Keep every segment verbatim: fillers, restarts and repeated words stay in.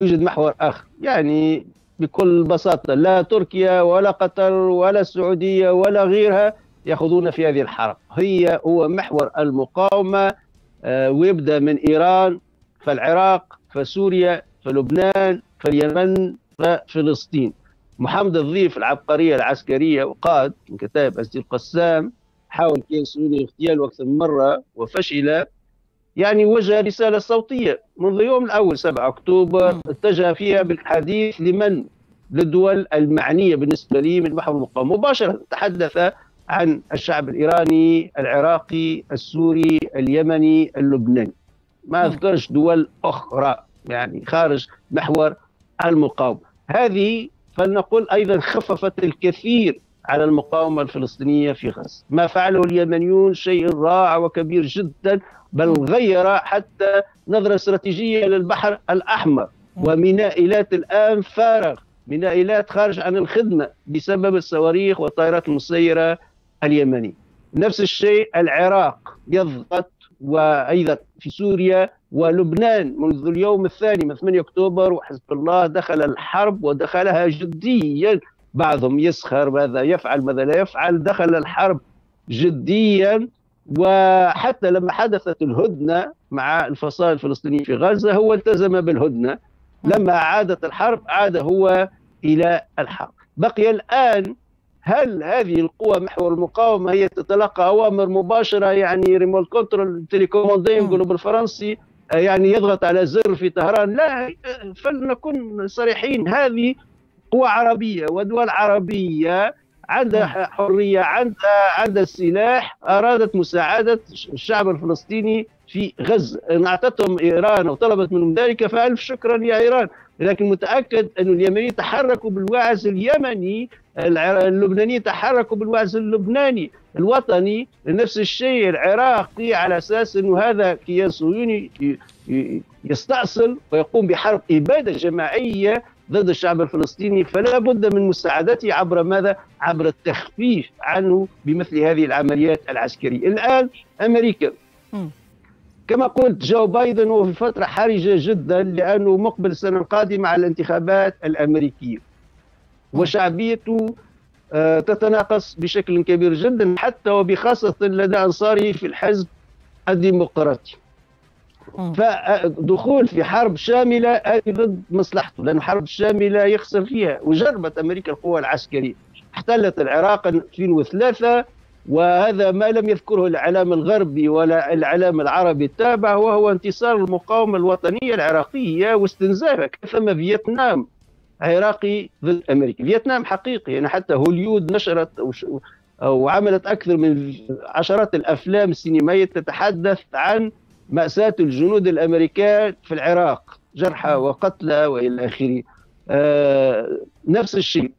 يوجد محور آخر. يعني بكل بساطة لا تركيا ولا قطر ولا السعودية ولا غيرها يأخذون في هذه الحرب. هي هو محور المقاومة، ويبدأ من إيران فالعراق فسوريا فلبنان فاليمن ففلسطين. محمد الضيف العبقرية العسكرية وقاد من كتائب عز الدين القسام، حاول كيان اغتياله أكثر من مرة وفشل. يعني وجه رسالة صوتية منذ يوم الأول سبعة أكتوبر اتجه فيها بالحديث لمن؟ للدول المعنية بالنسبة لي من محور المقاومة. مباشرة تحدث عن الشعب الإيراني، العراقي، السوري، اليمني، اللبناني. ما أذكرش دول أخرى يعني خارج محور المقاومة. هذه فلنقول أيضا خففت الكثير على المقاومة الفلسطينية في غزة. ما فعله اليمنيون شيء رائع وكبير جدا، بل غير حتى نظرة استراتيجية للبحر الأحمر. وميناء إيلات الآن فارغ، ميناء إيلات خارج عن الخدمة بسبب الصواريخ والطائرات المسيرة اليمنية. نفس الشيء العراق يضغط، وأيضا في سوريا ولبنان منذ اليوم الثاني من ثمانية أكتوبر وحزب الله دخل الحرب ودخلها جديا. بعضهم يسخر ماذا يفعل ماذا لا يفعل، دخل الحرب جديا. وحتى لما حدثت الهدنة مع الفصائل الفلسطينية في غزة هو التزم بالهدنة. لما عادت الحرب عاد هو إلى الحرب. بقي الآن هل هذه القوى محور المقاومة هي تتلقى أوامر مباشرة، يعني remote control télécommandé يقولوا بالفرنسي، يعني يضغط على زر في طهران؟ لا، فلنكن صريحين، هذه قوى عربية ودول عربية عندها حرية، عندها عندها السلاح، أرادت مساعدة الشعب الفلسطيني في غزة. إن أعطتهم إيران وطلبت منهم ذلك فألف شكرا يا إيران. لكن متأكد أن اليمنيين تحركوا بالوعز اليمني، اللبنانيين تحركوا بالوعز اللبناني الوطني، نفس الشيء العراقي، على أساس أنه هذا كيان صهيوني يستأصل ويقوم بحرب إبادة جماعية ضد الشعب الفلسطيني، فلا بد من مساعدته عبر ماذا؟ عبر التخفيف عنه بمثل هذه العمليات العسكرية. الآن أمريكا كما قلت جو بايدن هو في فترة حرجة جدا، لأنه مقبل السنة القادمة على الانتخابات الأمريكية، وشعبيته تتناقص بشكل كبير جدا، حتى وبخاصة لدى أنصاره في الحزب الديمقراطي. فدخول في حرب شاملة هذه ضد مصلحته، لأن حرب شاملة يخسر فيها. وجربت أمريكا القوة العسكرية، احتلت العراق ألفين وثلاثة، وهذا ما لم يذكره الإعلام الغربي ولا الإعلام العربي التابع، وهو انتصار المقاومة الوطنية العراقية واستنزافها. ثم فيتنام عراقي ضد أمريكا، فيتنام حقيقي، يعني حتى هوليود نشرت وعملت أكثر من عشرات الأفلام السينمائية تتحدث عن مأساة الجنود الأمريكان في العراق، جرحى وقتلى وإلى آخره. آه نفس الشيء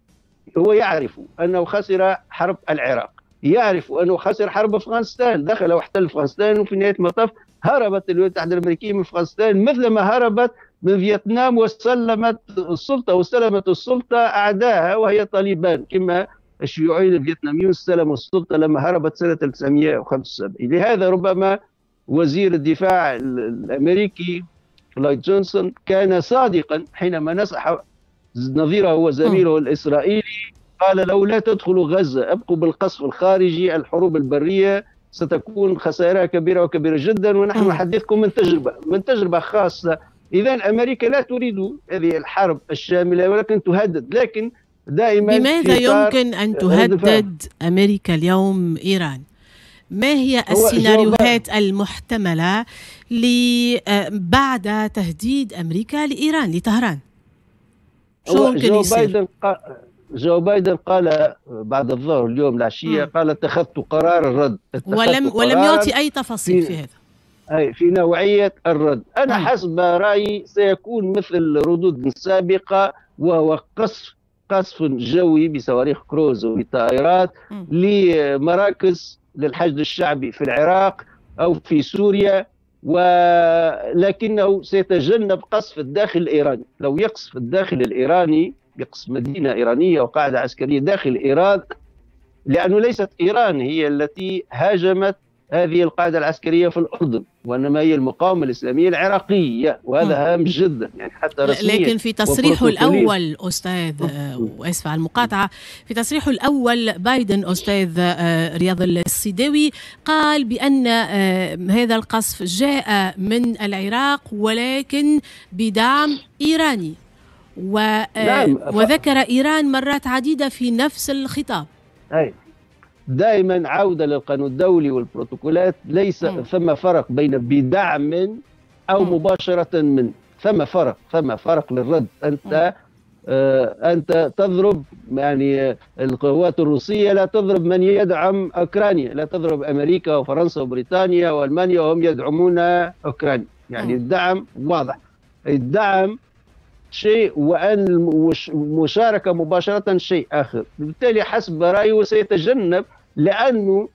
هو يعرف أنه خسر حرب العراق، يعرف أنه خسر حرب أفغانستان، دخل واحتل أفغانستان، وفي نهاية المطاف هربت الولايات المتحدة الأمريكية من أفغانستان مثل ما هربت من فيتنام، وسلمت السلطة واستلمت السلطة أعدائها وهي طالبان، كما الشيوعيين الفيتناميون استلموا السلطة لما هربت سنة ألف وتسعمئة وخمسة وسبعين. لهذا ربما وزير الدفاع الأمريكي لويد جونسون كان صادقا حينما نصح نظيره وزميله الإسرائيلي، قال لو لا تدخلوا غزة، ابقوا بالقصف الخارجي، الحروب البرية ستكون خسائرها كبيرة وكبيرة جدا، ونحن نحدثكم من تجربة من تجربة خاصة. إذا أمريكا لا تريد هذه الحرب الشاملة، ولكن تهدد. لكن دائما بماذا يمكن أن تهدد أمريكا اليوم إيران؟ ما هي السيناريوهات المحتملة بعد تهديد أمريكا لإيران لطهران؟ شو ممكن جو يصير؟ بايدن قال جو بايدن قال بعد الظهر اليوم العشية، قال اتخذت قرار الرد، ولم ولم يعطي أي تفاصيل في, في هذا، أي في نوعية الرد. أنا مم. حسب رأيي سيكون مثل ردود سابقة، وهو قصف قصف جوي بصواريخ كروز وبطائرات لمراكز للحشد الشعبي في العراق أو في سوريا، ولكنه سيتجنب قصف الداخل الإيراني. لو يقصف الداخل الإيراني، يقصف مدينة إيرانية وقاعدة عسكرية داخل إيران، لأنه ليست إيران هي التي هاجمت هذه القاعدة العسكرية في الأردن، وإنما هي المقاومة الإسلامية العراقية، وهذا هام جدا يعني حتى رسميا. لكن في تصريحه الأول أستاذ، وأسف على المقاطعة، في تصريحه الأول بايدن أستاذ رياض السيداوي قال بأن هذا القصف جاء من العراق ولكن بدعم إيراني، و... نعم. وذكر إيران مرات عديدة في نفس الخطاب. أي دائما عودة للقانون الدولي والبروتوكولات، ليس م. ثم فرق بين بدعم أو م. مباشرة من، ثم فرق، ثم فرق للرد. أنت آه أنت تضرب يعني القوات الروسية لا تضرب من يدعم أوكرانيا، لا تضرب أمريكا وفرنسا وبريطانيا وألمانيا وهم يدعمون أوكرانيا، يعني م. الدعم واضح، الدعم شيء وأن المشاركة مباشرة شيء آخر. بالتالي حسب رأيه سيتجنب، لأنه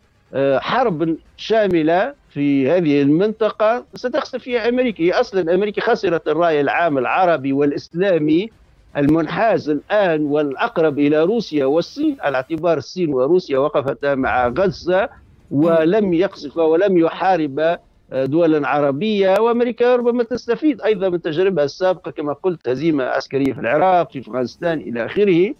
حرب شاملة في هذه المنطقة ستخسر فيها أمريكا. هي أصلا أمريكا خسرت الرأي العام العربي والإسلامي المنحاز الآن والأقرب إلى روسيا والصين، على اعتبار الصين وروسيا وقفتا مع غزة ولم يقصف ولم يحارب دولا عربية، وأمريكا ربما تستفيد أيضا من تجربها السابقة كما قلت، هزيمة عسكرية في العراق، في أفغانستان إلى آخره.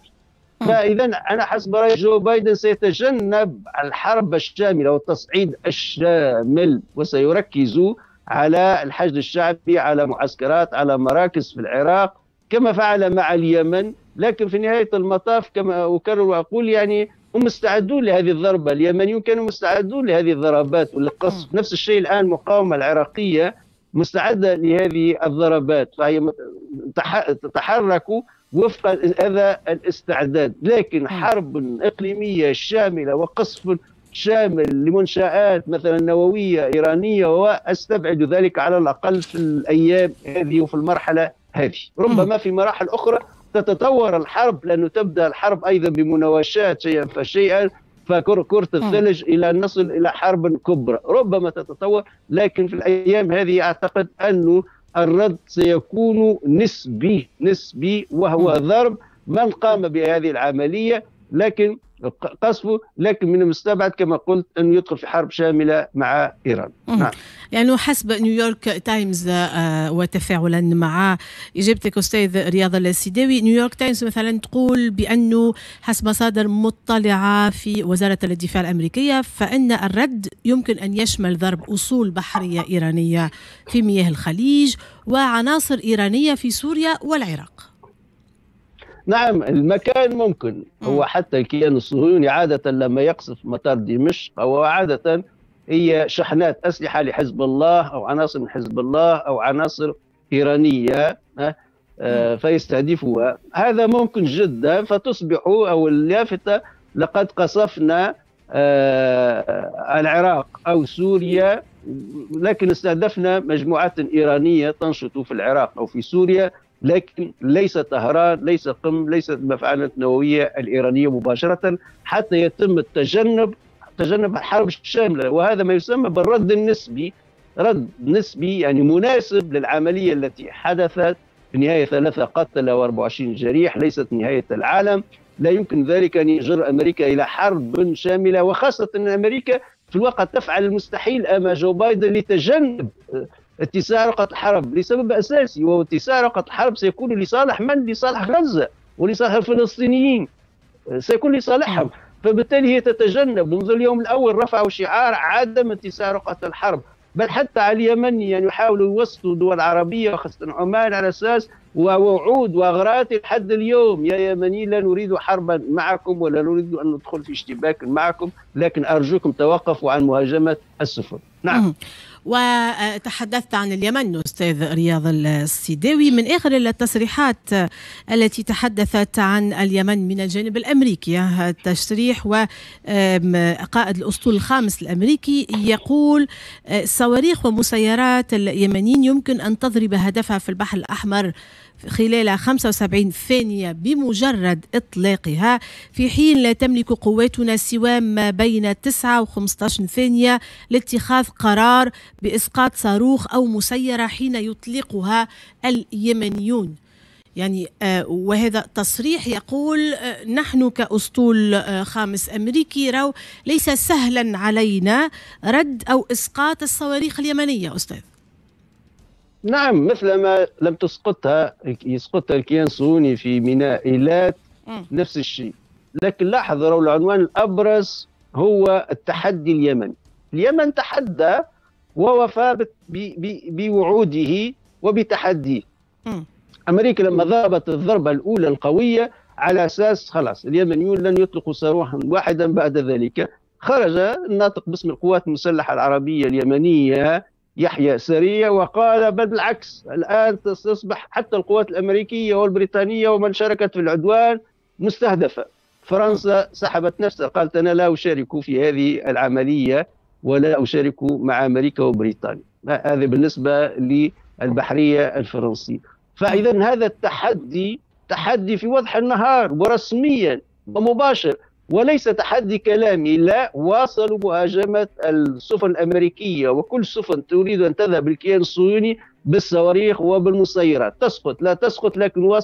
فإذا أنا حسب رأيي جو بايدن سيتجنب الحرب الشاملة والتصعيد الشامل، وسيركز على الحشد الشعبي، على معسكرات، على مراكز في العراق كما فعل مع اليمن. لكن في نهاية المطاف كما أكرر وأقول يعني هم مستعدون لهذه الضربة، اليمنيون كانوا مستعدون لهذه الضربات وللقصف. نفس الشيء الآن المقاومة العراقية مستعدة لهذه الضربات، فهي تتحرك وفق هذا الاستعداد. لكن حرب إقليمية شاملة وقصف شامل لمنشآت مثلا نووية إيرانية، وأستبعد ذلك على الأقل في الأيام هذه وفي المرحلة هذه. ربما في مراحل أخرى تتطور الحرب، لأنه تبدأ الحرب أيضا بمناوشات شيئا فشيئا، فكرة الثلج إلى أن نصل إلى حرب كبرى، ربما تتطور. لكن في الأيام هذه أعتقد أنه الرد سيكون نسبي نسبي، وهو ضرب من قام بهذه العملية، لكن قصفه، لكن من المستبعد كما قلت أنه يدخل في حرب شاملة مع إيران. نعم. يعني حسب نيويورك تايمز، وتفاعلا مع إجابتك أستاذ رياض السيداوي، نيويورك تايمز مثلا تقول بأنه حسب مصادر مطلعة في وزارة الدفاع الأمريكية فإن الرد يمكن أن يشمل ضرب أصول بحرية إيرانية في مياه الخليج وعناصر إيرانية في سوريا والعراق. نعم، المكان ممكن. هو حتى الكيان الصهيوني عادة لما يقصف مطار دمشق أو عادة هي شحنات أسلحة لحزب الله أو عناصر من حزب الله أو عناصر إيرانية فيستهدفها، هذا ممكن جدا. فتصبح أو اللافتة لقد قصفنا العراق أو سوريا، لكن استهدفنا مجموعات إيرانية تنشط في العراق أو في سوريا، لكن ليس طهران، ليس قم، ليست المفاعلات النووية الإيرانية مباشرة، حتى يتم التجنب تجنب الحرب الشاملة. وهذا ما يسمى بالرد النسبي، رد نسبي يعني مناسب للعملية التي حدثت. في النهاية ثلاثة قتلى وأربعة وعشرين جريح، ليست نهاية العالم. لا يمكن ذلك أن يجر أمريكا إلى حرب شاملة، وخاصة أن أمريكا في الواقع تفعل المستحيل أمام جو بايدن لتجنب اتساع رقعة الحرب لسبب أساسي، وهو اتساع رقعة الحرب سيكون لصالح من؟ لصالح غزة ولصالح الفلسطينيين، سيكون لصالحهم. فبالتالي هي تتجنب منذ اليوم الأول، رفعوا شعار عدم اتساع رقعة الحرب، بل حتى على اليمن يعني يحاولوا يوصلوا دول عربية وخاصة عمان على أساس ووعود وأغراءات لحد اليوم، يا يمنيين لا نريد حربا معكم ولا نريد أن ندخل في اشتباك معكم، لكن أرجوكم توقفوا عن مهاجمة السفن. نعم. وتحدثت عن اليمن أستاذ رياض السيداوي، من آخر التصريحات التي تحدثت عن اليمن من الجانب الأمريكي، التشريح وقائد الأسطول الخامس الأمريكي يقول صواريخ ومسيرات اليمنيين يمكن أن تضرب هدفها في البحر الأحمر خلال خمسة وسبعين ثانية بمجرد إطلاقها، في حين لا تملك قواتنا سوى ما بين تسعة وخمسة عشر ثانية لاتخاذ قرار بإسقاط صاروخ أو مسيرة حين يطلقها اليمنيون. يعني وهذا تصريح يقول نحن كأسطول خامس أمريكي راو ليس سهلا علينا رد أو إسقاط الصواريخ اليمنية أستاذ. نعم، مثلما لم تسقطها يسقطها الكيان الصهيوني في ميناء إيلات نفس الشيء. لكن لاحظ العنوان الأبرز هو التحدي اليمني. اليمن تحدى ووفى بوعوده وبتحديه. أمريكا لما ضربت الضربة الأولى القوية على أساس خلاص اليمنيون لن يطلقوا صاروخا واحدا بعد ذلك، خرج الناطق باسم القوات المسلحة العربية اليمنية يحيى سريع وقال بل بالعكس، الآن تصبح حتى القوات الأمريكية والبريطانية ومن شاركت في العدوان مستهدفة. فرنسا سحبت نفسها، قالت أنا لا أشارك في هذه العملية ولا أشارك مع أمريكا وبريطانيا. هذا بالنسبة للبحرية الفرنسية. فإذا هذا التحدي تحدي في وضح النهار ورسميا ومباشر، وليس تحدي كلامي. لا، واصلوا مهاجمة السفن الأمريكية وكل سفن تريد أن تذهب الكيان الصهيوني بالصواريخ وبالمسيرات، تسقط لا تسقط، لكن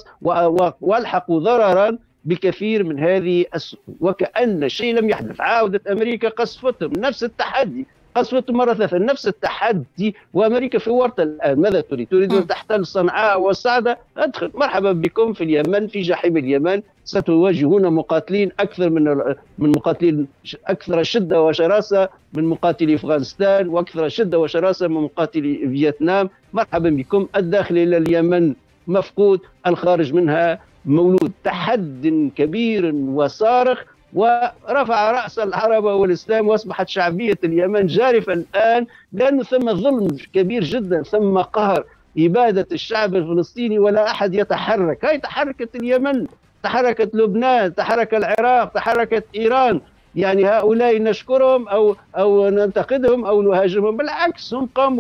والحقوا ضررا بكثير من هذه السفن، وكأن شيء لم يحدث. عاودت أمريكا قصفتهم، نفس التحدي، قصفتهم مرة ثالثة، نفس التحدي، وأمريكا في ورطة الآن. ماذا تريد؟ تريد أن تحتل صنعاء والصعدة؟ أدخل، مرحبا بكم في اليمن، في جحيم اليمن، ستواجهون مقاتلين أكثر من من مقاتلين أكثر شدة وشراسة من مقاتلي أفغانستان، وأكثر شدة وشراسة من مقاتلي فيتنام. مرحبا بكم. الداخل إلى اليمن مفقود، الخارج منها مولود. تحد كبير وصارخ، ورفع رأس العرب والإسلام، وأصبحت شعبية اليمن جارفة الآن، لأنه ثم ظلم كبير جدا، ثم قهر، إبادة الشعب الفلسطيني ولا أحد يتحرك. هاي تحركت اليمن، تحركت لبنان، تحرك العراق، تحركت إيران. يعني هؤلاء نشكرهم أو أو ننتقدهم أو نهاجمهم؟ بالعكس، هم قاموا